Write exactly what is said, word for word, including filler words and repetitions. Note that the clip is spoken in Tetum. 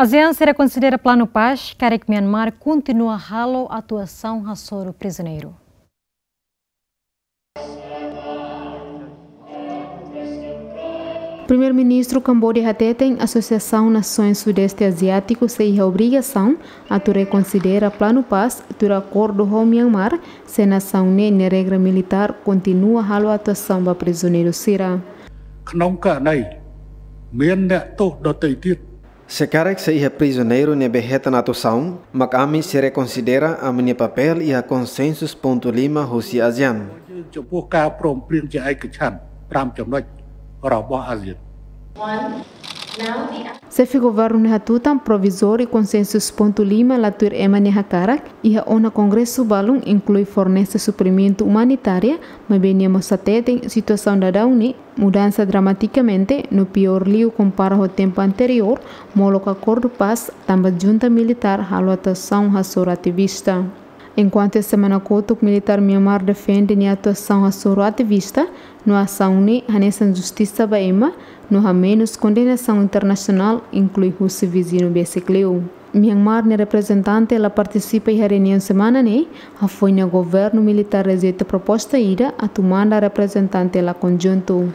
ASEAN sei rekonsidera planu pás, karik Myanmar kontinua halo atuasaun hasoru prizioneiru. Primeiru-Ministru Kamboja hateten Asosiasaun Nasoens Sudeste Aziátiku sei iha obrigasaun atu rekonsidera planu pás tuir akordu ho Myanmar, se nasaun ne'e nia regra militár kontinua halo atuasaun ba prizioneiru sira. ក្នុងករណីមានអ្នកទោសដទៃទៀត Se karik sei iha prizioneiru ne'ebé hetan atuasaun, mak ami sei rekonsidera ami-nia papél iha konsensus pontu lima husi ASEAN. ចំពោះការព្រមព្រៀងជាឯកច្ឆន្ទប្រាំចំណុចរបស់អាស៊ាន Chefe Governu ne'e hatutan provizóriu konsensus pontu lima la tuir ema nia hakarak, iha ona kongresu balun inklui fornese suprimentu umanitária, maibé nia mós hateten situasaun daudaun ne'e mudansa dramatikamente no piór liu kompara ho tempu anteriór, molok akordu pás, tanba junta militár halo atuasaun hasoru ativista. Enkuantu iha semana kotuk militár Myanmar defende nia atuasaun hasoru ativista, no asaun ne'e hanesan justisa ba ema, no hamenus kondenasaun internasionál, inklui husi viziñu besik liu. Myanmar nia reprezentante la partisipa iha reuniaun semana ne'e, hafoin ne'e governu militár rejeita proposta ida atu manda reprezentante la konjuntu.